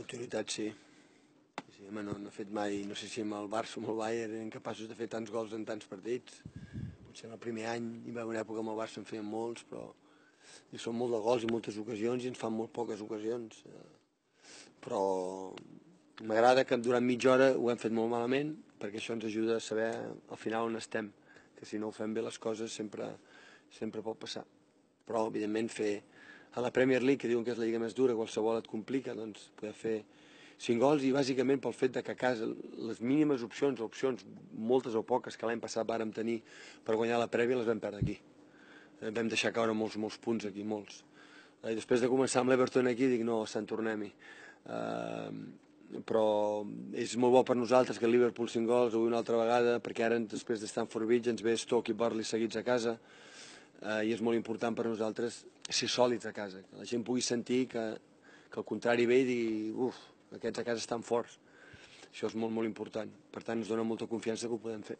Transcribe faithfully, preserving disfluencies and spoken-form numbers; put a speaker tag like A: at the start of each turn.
A: L'oportunitat sí. Sí, home, no, no he fet mai, no sé si amb el Barça o amb el Bayern eren capaços de fer tants gols en tants partits. Potser en el primer any hi va haver una època amb el Barça en feien molts, però i són molt de gols i moltes ocasions i ens fan molt poques ocasions. Però m'agrada que durant mitja hora ho hem fet molt malament, perquè això ens ajuda a saber al final on estem, que si no ho fem bé les coses sempre, sempre pot passar. Però, evidentment, fer a la Premier League, que diuen que és la lliga més dura, qualsevol et complica, doncs poder fer cinc gols i bàsicament pel fet de que a casa les mínimes opcions, opcions moltes o poques que l'any passat vàrem tenir per guanyar la prèvia les vam perdre aquí. Vam deixar caure molts, molts punts aquí, molts. I després de començar amb l'Everton aquí dic no, Sant tornem-hi. Uh, però és molt bo per nosaltres que el Liverpool cinc gols avui una altra vegada, perquè ara després de Stamford Bridge ens ve Stoke i Burnley seguits a casa, uh, i és molt important per nosaltres ser sòlids a casa, que la gent pugui sentir que, que el contrari ve i digui uf, aquests a casa estan forts. Això és molt, molt important. Per tant, ens dona molta confiança que ho podem fer.